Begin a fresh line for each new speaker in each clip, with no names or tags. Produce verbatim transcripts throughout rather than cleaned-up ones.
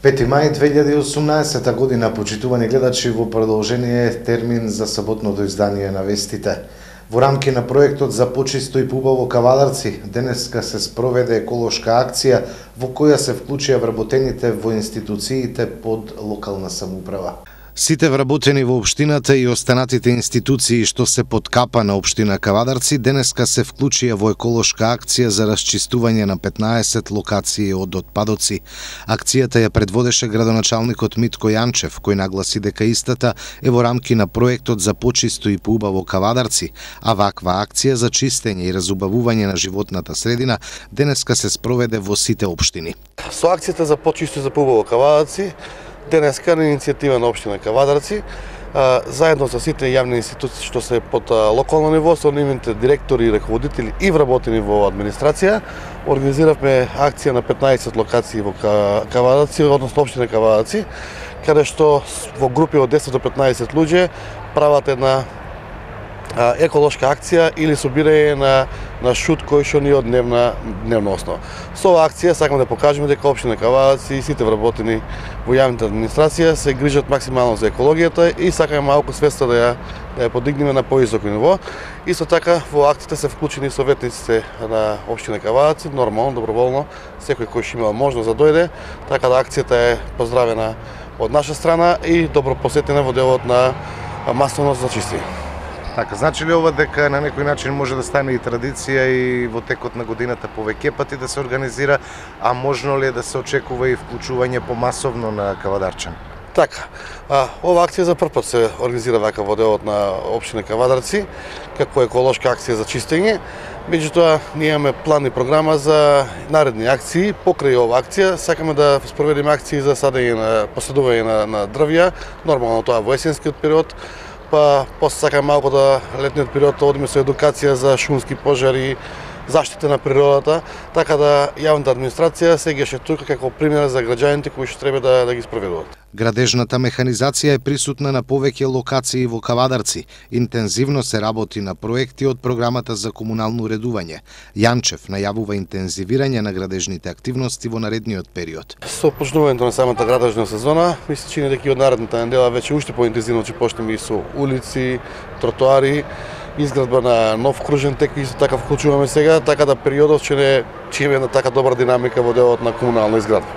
пети мај две илјади и осумнаесета година, почитувани гледачи, во продолжение термин за саботното издание на вестите. Во рамки на проектот за почисто и поубаво Кавадарци, денеска се спроведе еколошка акција во која се вклучија вработените во институциите под локална самоуправа. Сите вработени во општината и останатите институции што се под капа на општина Кавадарци денеска се вклучија во еколошка акција за расчистување на петнаесет локации од отпадоци. Акцијата ја предводеше градоначалникот Митко Јанчев, кој нагласи дека истата е во рамки на проектот за почисто и поубаво Кавадарци, а ваква акција за чистење и разубавување на животната средина денеска се спроведе во сите општини.
Со акцијата за почисто и за поубаво Кавадарци денеска на иницијатива на општина Кавадарци, заедно со сите јавни институции што се под локално ниво, со нивните директори и раководители и вработени во администрација, организиравме акција на петнаесет локации во Кавадарци, односно општина Кавадарци, каде што во групи од десет до петнаесет луѓе прават една еколошка акција или собирање на на шут кој што ни од дневна дневна основа. Со оваа акција сакаме да покажеме дека општина Кавадарци и сите вработени во јавната администрација се грижат максимално за екологијата и сакаме малку свеста да ја да ја подигнеме на повисоко ниво. Исто така во акцијата се вклучени советниците на општина Кавадарци, нормално, доброволно, секој кој што имал можност да дојде, така да акцијата е поздравена од наша страна и добро посетена во делот на масовно зачистење.
Така, значи ли ова дека на некој начин може да стане и традиција и во текот на годината повеќе пати да се организира, а можно ли е да се очекува и вклучување помасовно на Кавадарчани?
Така, а, ова акција за прв пат се организира вака во делот на општина Кавадарци, како еколошка акција за чистење. Меѓутоа, ние имаме план и програма за наредни акции. Покрај ова акција, сакаме да спроведеме акции за садење на посадување на, на дрвја, нормално тоа во есенскиот период, па после сакаме малку да летниот период одиме со едукација за шумски пожари, заштита на природата, така да јавната администрација се геше тука како пример за граѓаните кои што треба да, да ги спроведуваат.
Градежната механизација е присутна на повеќе локации во Кавадарци. Интензивно се работи на проекти од програмата за комунално уредување. Јанчев најавува интензивирање на градежните активности во наредниот период.
Со почнувањето на самата градежна сезона, ми се чини дека и од наредната недела веќе уште поинтензивно ќе почнеме и со улици, тротоари, изградба на нов кружен тек, исто така вклучуваме сега, така да периодот ќе не ќе има една така добра динамика во делот на комунална изградба.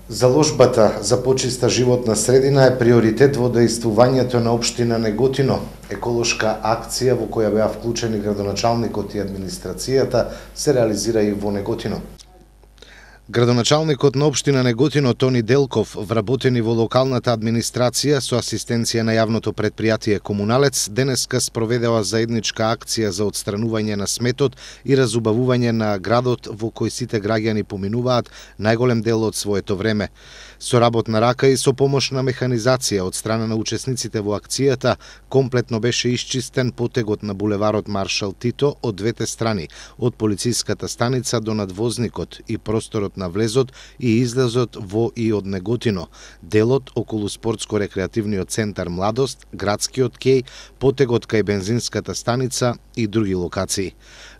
Заложбата за почиста животна средина е приоритет во дејствувањето на општина Неготино. Еколошка акција во која беа вклучени градоначалникот и администрацијата се реализира и во Неготино. Градоначалникот на општина Неготино Тони Делков, вработени во локалната администрација со асистенција на јавното предпријатие Комуналец, денеска спроведела заедничка акција за отстранување на сметот и разубавување на градот во кој сите граѓани поминуваат најголем дел од своето време. Со работна рака и со помош на механизација од страна на учесниците во акцијата, комплетно беше исчистен потегот на булеварот Маршал Тито од двете страни, од полициската станица до надвозникот и просторот на влезот и излезот во и од Неготино, делот околу спортско-рекреативниот центар Младост, градскиот кеј, потегот кај бензинската станица и други локации.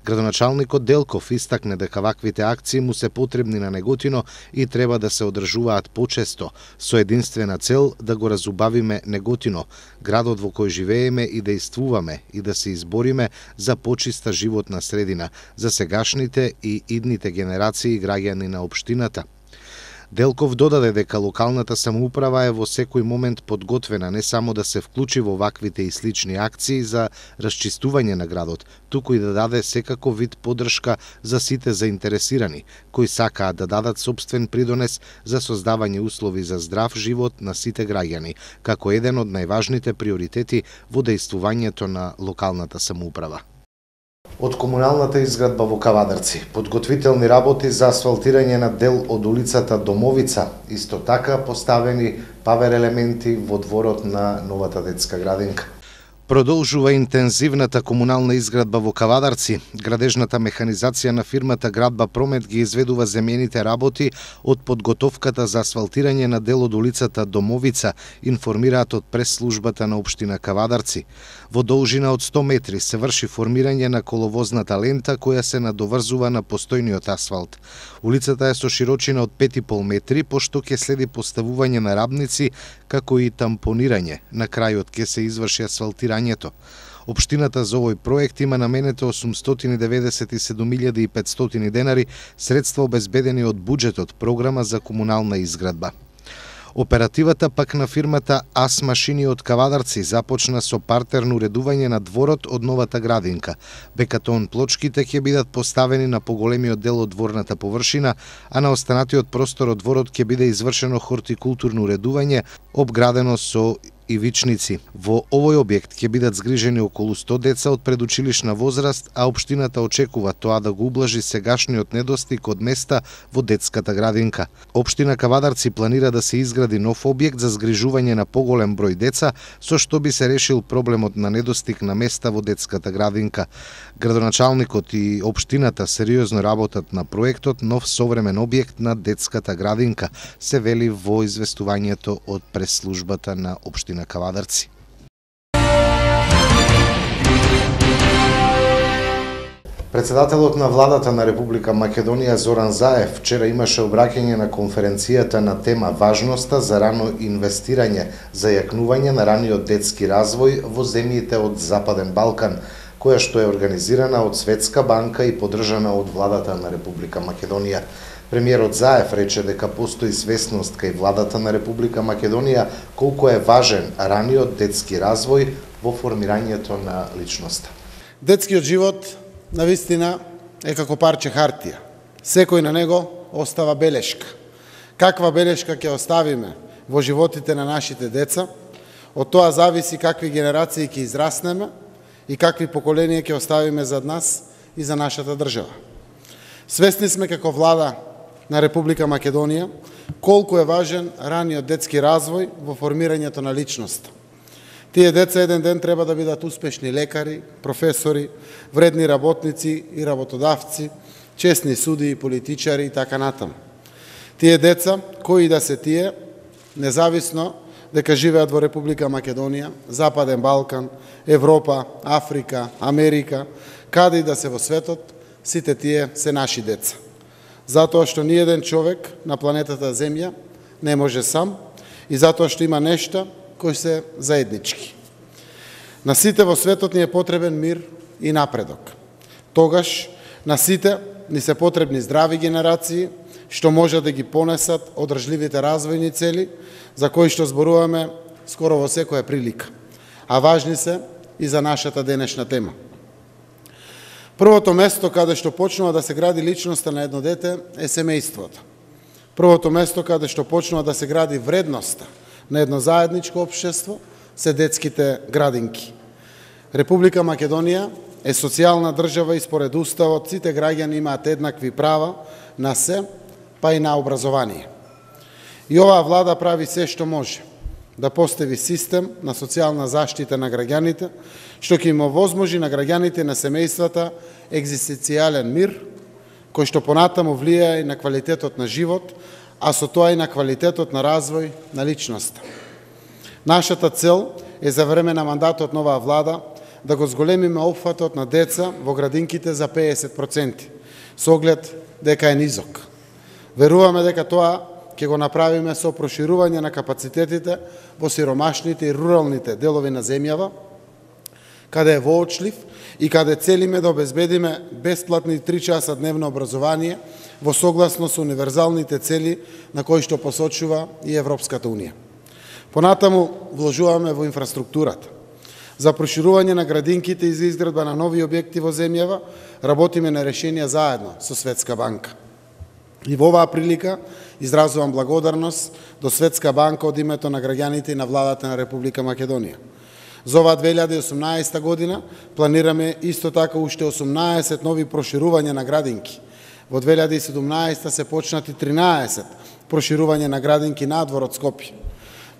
Градоначалникот Делков истакне дека ваквите акции му се потребни на Неготино и треба да се одржуваат почесто, со единствена цел да го разубавиме Неготино, градот во кој живееме и дејствуваме и да се избориме за почиста животна средина за сегашните и идните генерации граѓани на општината. Делков додаде дека локалната самоуправа е во секој момент подготвена не само да се вклучи во ваквите и слични акции за расчистување на градот, туку и да даде секако вид поддршка за сите заинтересирани, кои сакаат да дадат сопствен придонес за создавање услови за здрав живот на сите граѓани, како еден од најважните приоритети во дејствувањето на локалната самоуправа. Од комуналната изградба во Кавадарци, подготвителни работи за асфалтирање на дел од улицата Домовица, исто така поставени павер елементи во дворот на новата детска градинка. Продолжува интензивната комунална изградба во Кавадарци. Градежната механизација на фирмата Градба Промет ги изведува земјените работи од подготовката за асфалтирање на дел од улицата Домовица, информираат од прес-службата на општина Кавадарци. Во должина од сто метри се врши формирање на коловозната лента која се надоврзува на постојниот асфалт. Улицата е со широчина од пет и пол метри, пошто ќе следи поставување на рабници, како и тампонирање. На крајот ќе се изврши асфалтирањето. Општината за овој проект има наменето осумстотини деветдесет и седум илјади и петстотини денари, средства обезбедени од буџетот програма за комунална изградба. Оперативата пак на фирмата АС Машини од Кавадарци започна со партерно уредување на дворот од новата градинка. Бекатон плочките ќе бидат поставени на поголемиот дел од дворната површина, а на останатиот простор од дворот ќе биде извршено хортикултурно уредување, обградено со ивичници. Во овој објект ќе бидат згрижени околу сто деца од предучилишна возраст, а општината очекува тоа да го ублажи сегашниот недостиг од места во детската градинка. Општина Кавадарци планира да се изгради нов објект за згрижување на поголем број деца, со што би се решил проблемот на недостиг на места во детската градинка. Градоначалникот и општината сериозно работат на проектот нов современ објект на детската градинка, се вели во известувањето од прес-службата на општина Кавадарци. Председателот на владата на Република Македонија Зоран Заев вчера имаше обраќање на конференцијата на тема важноста за рано инвестирање за јакнување на раниот детски развој во земјите од Западен Балкан, која што е организирана од Светска банка и поддржана од владата на Република Македонија. Премиерот Заев рече дека постои свесност кај владата на Република Македонија колку е важен раниот детски развој во формирањето на личноста.
Детскиот живот навистина е како парче хартија. Секој на него остава белешка. Каква белешка ќе оставиме во животите на нашите деца, од тоа зависи какви генерации ќе израснеме и какви поколенија ќе оставиме зад нас и за нашата држава. Свесни сме како влада на Република Македонија колку е важен раниот детски развој во формирањето на личност. Тие деца еден ден треба да бидат успешни лекари, професори, вредни работници и работодавци, честни судии, политичари и така натаму. Тие деца, кои да се тие, независно дека живеат во Република Македонија, Западен Балкан, Европа, Африка, Америка, каде и да се во светот, сите тие се наши деца. Затоа што ни еден човек на планетата Земја не може сам и затоа што има нешта кои се заеднички. На сите во светот ни е потребен мир и напредок. Тогаш на сите ни се потребни здрави генерации што може да ги понесат одржливите развојни цели за кои што зборуваме скоро во секоја прилика, а важни се и за нашата денешна тема. Првото место каде што почнува да се гради личноста на едно дете е семејството. Првото место каде што почнува да се гради вредноста на едно заедничко општество се детските градинки. Република Македонија е социјална држава и според уставот сите граѓани имаат еднакви права на се, па и на образование. И оваа влада прави се што може да постави систем на социјална заштита на граѓаните, што ќе им овозможи на граѓаните и на семејствата екзистенцијален мир, кој што понатаму влијае и на квалитетот на живот, а со тоа и на квалитетот на развој на личноста. Нашата цел е за време на мандатот на оваа влада да го зголемиме опфатот на деца во градинките за педесет проценти, со оглед дека е низок. Веруваме дека тоа ќе го направиме со проширување на капацитетите во сиромашните и руралните делови на земјава, каде е воочлив и каде целиме да обезбедиме бесплатни три часа дневно образование во согласно со универзалните цели на кои што посочува и Европската Унија. Понатаму вложуваме во инфраструктурата. За проширување на градинките и за изградба на нови објекти во земјава работиме на решенија заедно со Светска банка. И во оваа прилика изразувам благодарност до Светска банка од името на граѓаните и на владата на Република Македонија. За оваа две илјади и осумнаесета година планираме исто така уште осумнаесет нови проширувања на градинки. Во две илјади и седумнаесета се почнати тринаесет проширување на градинки надвор од Скопје.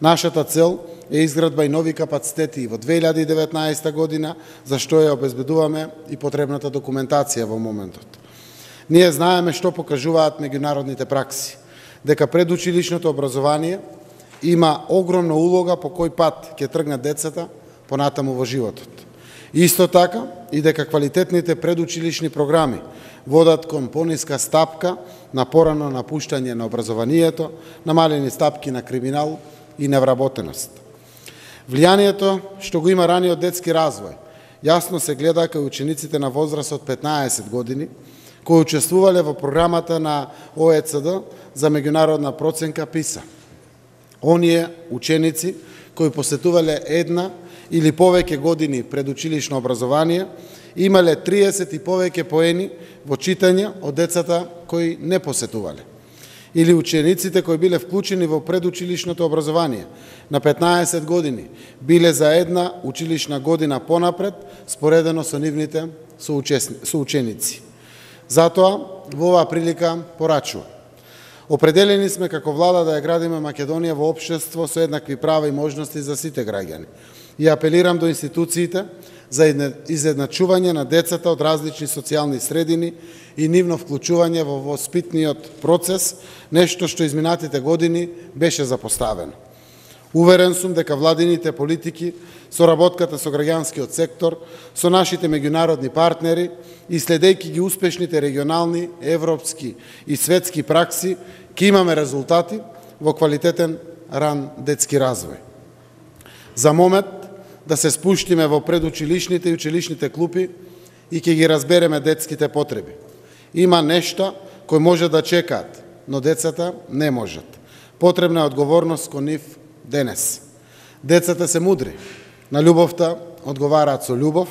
Нашата цел е изградба и нови капацитети во две илјади и деветнаесетта година, за што ја обезбедуваме и потребната документација во моментот. Ние знаеме што покажуваат меѓународните пракси, дека предучилишното образование има огромна улога по кој пат ќе тргнат децата понатаму во животот. Исто така и дека квалитетните предучилишни програми водат кон пониска стапка на порано напуштање на образованието, намалени стапки на криминал и невработеност. Влијанието што го има раниот детски развој јасно се гледа кај учениците на возраст од петнаесет години, кои учествувале во програмата на О Е Це Дэ за меѓународна проценка ПИСА. Оние ученици кои посетувале една или повеќе години предучилишно образование, имале триесет и повеќе поени во читање од децата кои не посетувале. Или учениците кои биле вклучени во предучилишното образование на петнаесет години биле за една училишна година понапред, споредено со нивните соученици. Затоа, во оваа прилика порачува. Определени сме како влада да ја градиме Македонија во општество со еднакви права и можности за сите граѓани. И апелирам до институциите за изедначување на децата од различни социјални средини и нивно вклучување во воспитниот процес, нешто што изминатите години беше запоставено. Уверен сум дека владините политики, соработката со граѓанскиот сектор, со нашите меѓународни партнери и следејќи ги успешните регионални, европски и светски пракси, ќе имаме резултати во квалитетен ран детски развој. За момент да се спуштиме во предучилишните и училишните клупи и ќе ги разбереме детските потреби. Има нешта кои може да чекаат, но децата не можат. Потребна е одговорност кон нив денес. Децата се мудри. На љубовта одговараат со љубов,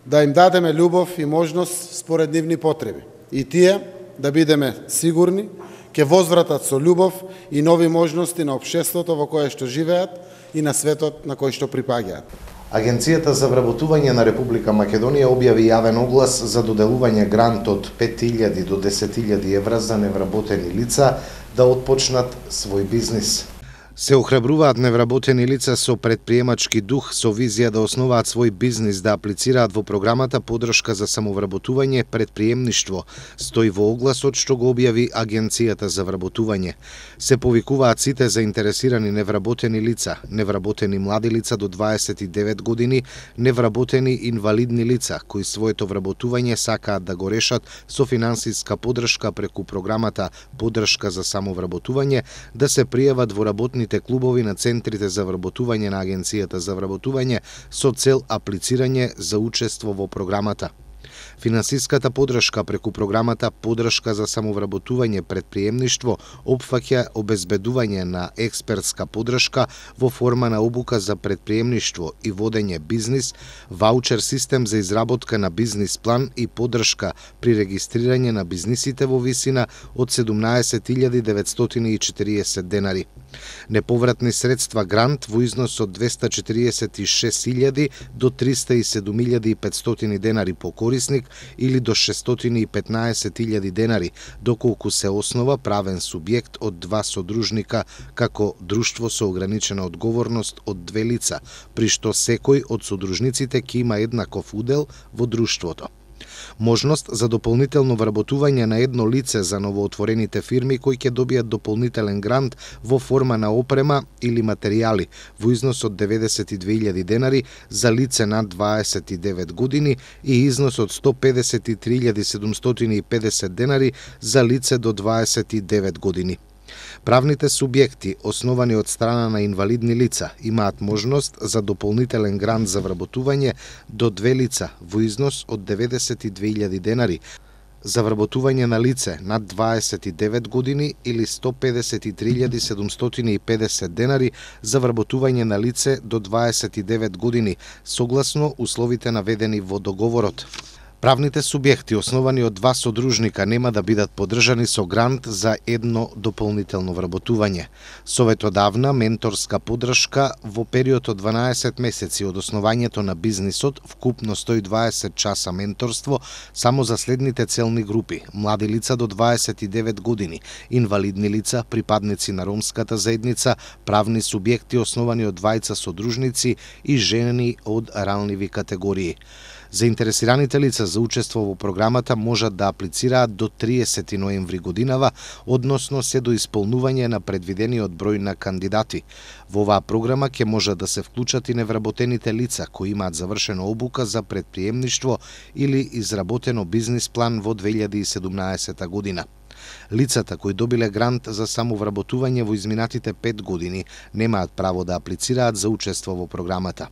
да им дадеме љубов и можност според нивни потреби. И тие, да бидеме сигурни, ќе возвратат со љубов и нови можности на општеството во кое што живеат и на светот на кој што припаѓаат.
Агенцијата за вработување на Република Македонија објави јавен оглас за доделување грант од пет илјади до десет илјади евра за невработени лица да отпочнат свој бизнис. Се охрабруваат невработени лица со предприемачки дух со визија да основаат свој бизнис да аплицираат во програмата Подршка за самовработување предприемништво, стои во огласот што го објави Агенцијата за вработување. Се повикуваат сите заинтересирани невработени лица, невработени млади лица до дваесет и девет години, невработени инвалидни лица кои своето вработување сакаат да го решат со финансиска подршка преку програмата Подршка за самовработување, да се пријават во работни клубови на центрите за вработување на Агенцијата за вработување со цел аплицирање за учество во програмата. Финансиската подршка преку програмата Подршка за самовработување предприемништво опфаќа обезбедување на експертска подршка во форма на обука за предприемништво и водење бизнис, ваучер систем за изработка на бизнис план и подршка при регистрирање на бизнисите во висина од седумнаесет илјади деветстотини и четириесет денари. Неповратни средства грант во износ од двесте четириесет и шест илјади до триста и седум илјади и петстотини денари по корисник или до шестстотини и петнаесет илјади денари, доколку се основа правен субјект од два содружника како друштво со ограничена одговорност од две лица, при што секој од содружниците ќе има еднаков удел во друштвото. Можност за дополнително вработување на едно лице за новоотворените фирми кои ќе добијат дополнителен грант во форма на опрема или материјали во износ од деветдесет и две илјади денари за лице над дваесет и девет години и износ од сто педесет и три илјади седумстотини и педесет денари за лице до дваесет и девет години. Правните субјекти, основани од страна на инвалидни лица, имаат можност за дополнителен грант за вработување до две лица во износ од деветдесет и две илјади денари, за вработување на лице над дваесет и девет години или сто педесет и три илјади седумстотини и педесет денари за вработување на лице до дваесет и девет години, согласно условите наведени во договорот. Правните субјекти основани од два содружника нема да бидат поддржани со грант за едно дополнително вработување. Советот давна менторска поддршка во период од дванаесет месеци од основањето на бизнисот, вкупно сто и дваесет часа менторство само за следните целни групи: млади лица до дваесет и девет години, инвалидни лица, припадници на ромската заедница, правни субјекти основани од двајца содружници и жени од ранливи категории. Заинтересираните лица за учество во програмата можат да аплицираат до триесети ноември годинава, односно се до исполнување на предвидениот број на кандидати. Во оваа програма ќе можат да се вклучат и невработените лица кои имаат завршена обука за предприемништво или изработено бизнис план во две илјади и седумнаесета година. Лицата кои добиле грант за самовработување во изминатите пет години немаат право да аплицираат за учество во програмата.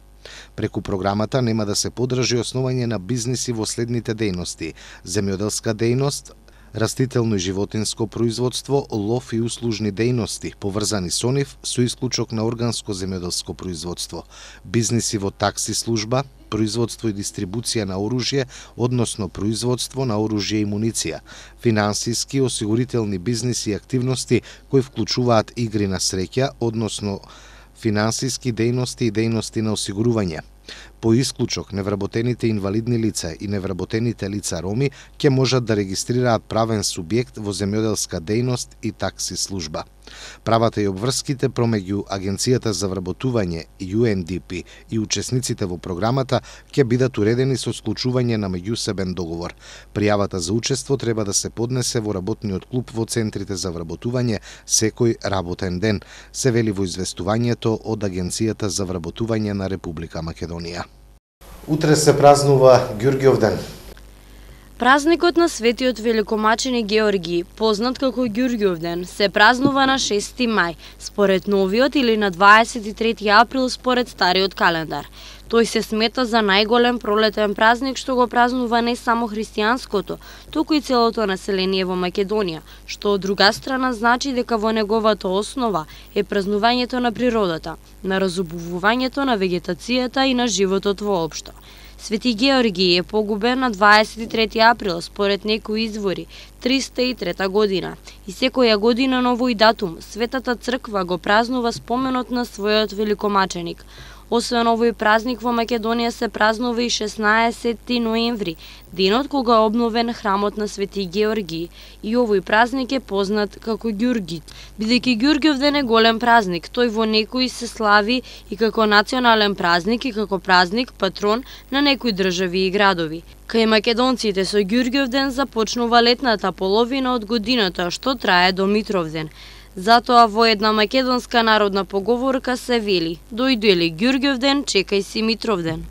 Преку програмата нема да се поддржи основање на бизниси во следните дејности: земјоделска дејност, растително и животинско производство, лов и услужни дејности, поврзани со нив, со исклучок на органско земјоделско производство, бизниси во такси служба, производство и дистрибуција на оружје, односно производство на оружје и муниција, финансиски, осигурителни бизниси и активности кои вклучуваат игри на среќа, односно финансиски дејности и дејности на осигурување. По исклучок, невработените инвалидни лица и невработените лица роми ќе можат да регистрираат правен субјект во земјоделска дејност и такси служба. Правата и обврските промеѓу Агенцијата за вработување Ю Ен Ди Пи и учесниците во програмата ќе бидат уредени со склучување на меѓусебен договор. Пријавата за учество треба да се поднесе во работниот клуб во центрите за вработување секој работен ден, се вели во известувањето од Агенцијата за вработување на Република Македонија. Утре се празнува Ѓурѓовден.
Празникот на светиот великомаченик Георгиј, познат како Ѓурѓовден, се празнува на шести мај, според новиот, или на дваесет и трети април според стариот календар. Тој се смета за најголем пролетен празник што го празнува не само христијанското, туку и целото население во Македонија, што од друга страна значи дека во неговата основа е празнувањето на природата, на разубувувањето на вегетацијата и на животот воопшто. Свети Георгиј е погубен на дваесет и трети април, според некои извори, триста и трета година. И секоја година на овој датум, Светата црква го празнува споменот на својот великомаченик. Освен овој празник во Македонија се празнува и шеснаесети ноември, денот кога е обновен храмот на Свети Георгиј, и овој празник е познат како Ѓурѓит. Бидејќи Ѓурѓовден е голем празник, тој во некои се слави и како национален празник и како празник патрон на некои држави и градови. Кај македонците со Ѓурѓовден започнува летната половина од годината, што трае до Митровден. Затоа во една македонска народна поговорка се вели: дојде ли Ѓурѓовден, чекај си Митровден.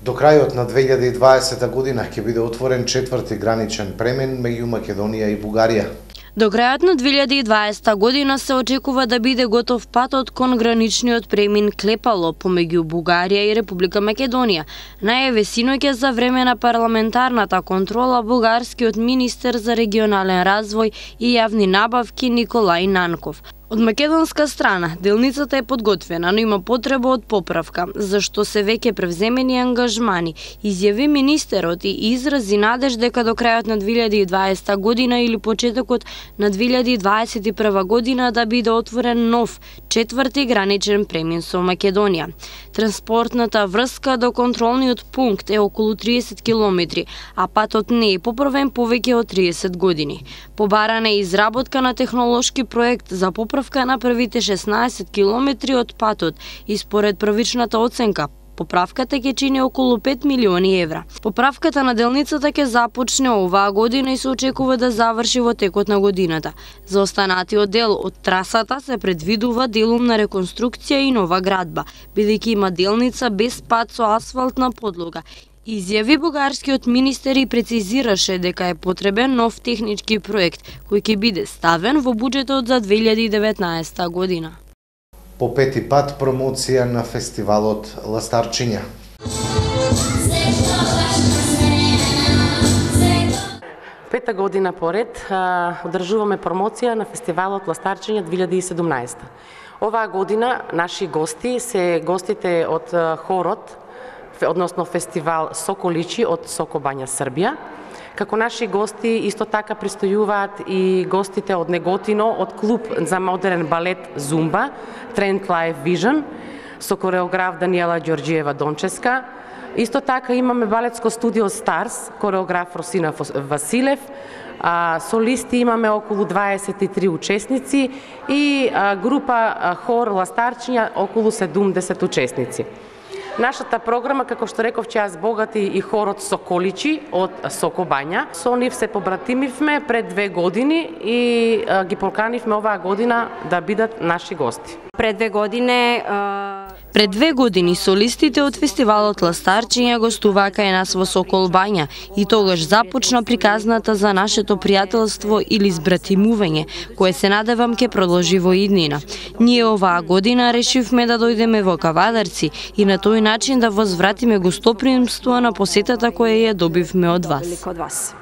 До крајот на две илјади и дваесета година ќе биде отворен четврти граничен премин меѓу Македонија и Бугарија.
До крајот на две илјади и дваесета година се очекува да биде готов патот кон граничниот премин Клепало помеѓу Бугарија и Република Македонија. Најаве синоќа за време на парламентарната контрола бугарскиот министер за регионален развој и јавни набавки Николај Нанков. Од македонска страна, делницата е подготвена, но има потреба од поправка, зашто се веќе превземени ангажмани, изјави министерот и изрази надеж дека до крајот на две илјади и дваесета година или почетокот на две илјади и дваесет и прва година да биде отворен нов, четврти граничен премин со Македонија. Транспортната врска до контролниот пункт е околу триесет километри, а патот не е поправен повеќе од триесет години. Побарана е изработка на технолошки проект за поправка на првите шеснаесет километри од патот и според првичната оценка, поправката ќе чини околу пет милиони евра. Поправката на делницата ќе започне оваа година и се очекува да заврши во текот на годината. За останатиот дел од трасата се предвидува делумна реконструкција и нова градба, бидејќи има делница без пат со асфалтна подлога. Изјави бугарскиот министер и прецизираше дека е потребен нов технички проект кој ќе биде ставен во буџетот за две илјади и деветнаесета година.
По пети пат промоција на фестивалот Ластарчиња.
Пета година поред одржуваме промоција на фестивалот Ластарчиња две илјади и седумнаесета. Оваа година наши гости се гостите од хорот, односно фестивал Соколичи од Сокобања, Србија. Како наши гости исто така пристојуваат и гостите од Неготино, од клуб за модерен балет Зумба, Trend Life Vision, со кореограф Даниела Ѓорѓиева Донческа. Исто така имаме балетско студио Старс, кореограф Росина Василев. А, солисти имаме околу дваесет и три учесници и а, група а, хор Ластарчиња околу седумдесет учесници. Нашата програма, како што реков, ќе ја збогати и хорот Соколичи од Сокобања. Со нив се побратимивме пред две години и а, ги поканивме оваа година да бидат наши гости.
Пред две години а... Пред две години солистите од фестивалот Ластарчиња гостуваа кај нас во Соколбања и тогаш започна приказната за нашето пријателство или збратимување, кое се надевам ќе продолжи во иднина. Ние оваа година решивме да дојдеме во Кавадарци и на тој начин да возвратиме гостопримство на посетата која ја добивме од вас.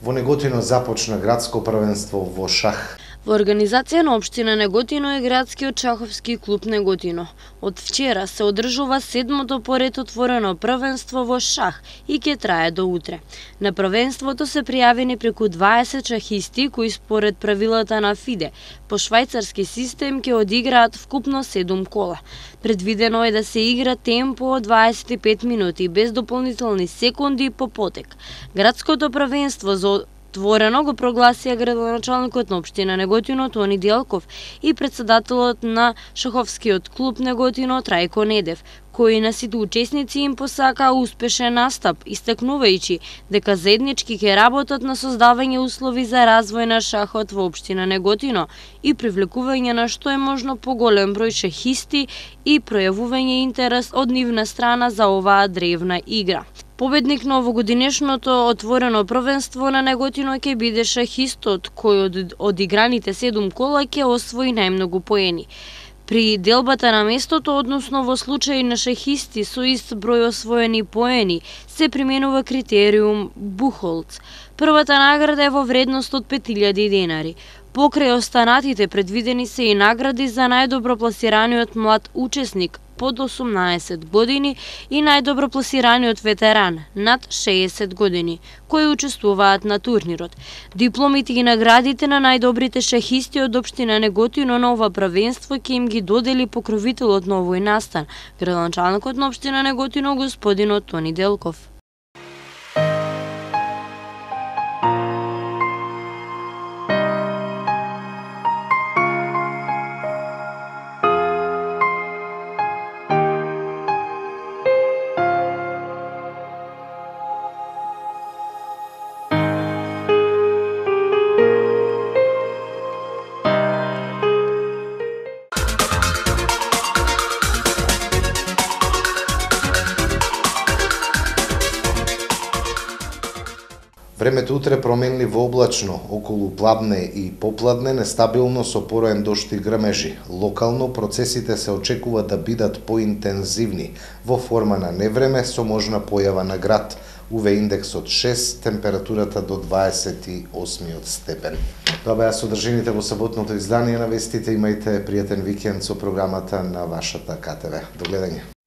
Во Неготино започна градско првенство во шах.
Во организација на општина Неготино е градскиот шаховски клуб Неготино. Од вчера се одржува седмото поред отворено првенство во шах и ќе трае до утре. На првенството се пријавени преку дваесет шахисти кои според правилата на ФИДЕ по швајцарски систем ќе одиграат вкупно седум кола. Предвидено е да се игра темпо од дваесет и пет минути без дополнителни секунди по потек. Градското првенство за отворено го прогласија градоначалникот на општина Неготино Тони Делков и председателот на шаховскиот клуб Неготино Трајко Недев, кои на сите учесници им посака успешен настап, истакнувајќи дека заеднички ќе работат на создавање услови за развој на шахот во општина Неготино и привлекување на што е можно поголем број шахисти и пројавување интерес од нивна страна за оваа древна игра. Победник на овогодинешното отворено првенство на Неготино ќе биде шахистот кој од одиграните седум кола ќе освои најмногу поени. При делбата на местото, односно во случај на шахисти со ист број освоени поени, се применува критериум Бухолц. Првата награда е во вредност од пет илјади денари. Покрај останатите предвидени се и награди за најдобро пласираниот млад учесник под осумнаесет години и најдобро пласираниот ветеран над шеесет години, кои учествуваат на турнирот. Дипломите и наградите на најдобрите шахисти од општина Неготино на ова првенство ќе им ги додели покровителот на овој настан, градоначалникот на општина Неготино господинот Тони Делков.
Времето утре променливо облачно, околу пладне и попладне, нестабилно со пороен дожд и грмежи. Локално процесите се очекува да бидат поинтензивни, во форма на невреме со можна појава на град. У В индексот шест, температурата до дваесет и осми степен. Тоа беа содржините во саботното издание на вестите. Имајте пријатен викенд со програмата на вашата К Т В. До гледање.